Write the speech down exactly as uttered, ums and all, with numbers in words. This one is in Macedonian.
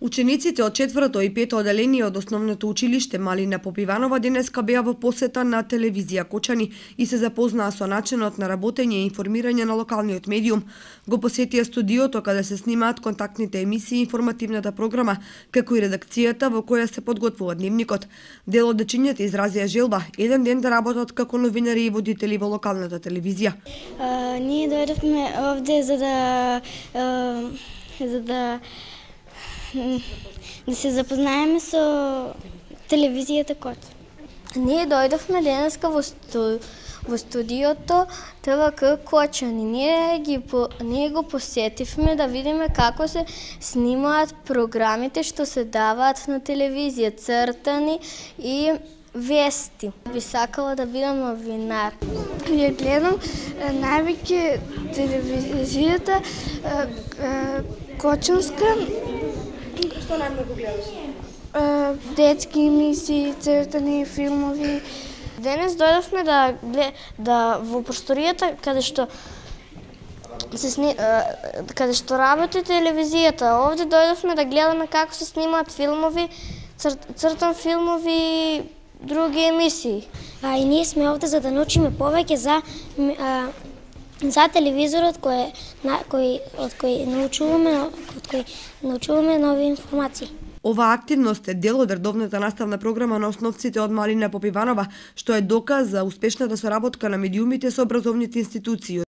Учениците од четврто и пето оделение од основното училиште Малина Попиванова денеска беа во посета на телевизија Кочани и се запознаа со начинот на работење и информирање на локалниот медиум. Го посетија студиото каде се снимаат контактните емисии и информативната програма, како и редакцијата во која се подготвува дневникот. Дел од дечињата изразија желба еден ден да работат како новинари и водители во локалната телевизија. А, ние дојдовме овде за да а, за да да се запознаеме со телевизијата Кочани. Ние дојдовме денеска во, сту, во студиото Т В К Кочани. Ние, ги, ние го посетивме да видиме како се снимаат програмите што се даваат на телевизија, цртани и вести. Би сакала да бидам новинар. Ја гледам највеќе телевизијата Кочанска. Што најмногу гледаш? Детски емисии, цртани, филмови. Денес дојдовме да да во просторијата каде што се сни, каде што работи телевизијата. Овде дојдовме да гледаме како се снимаат филмови, цр, цртан филмови и други емисии. А и ние сме овде за да научиме повеќе за а, за телевизорот кој, на, кој, од кој научуваме, од кој научуваме нови информации. Оваа активност е дел од редовната наставна програма на основците од Малина Попиванова, што е доказ за успешната соработка на медиумите со образовните институции.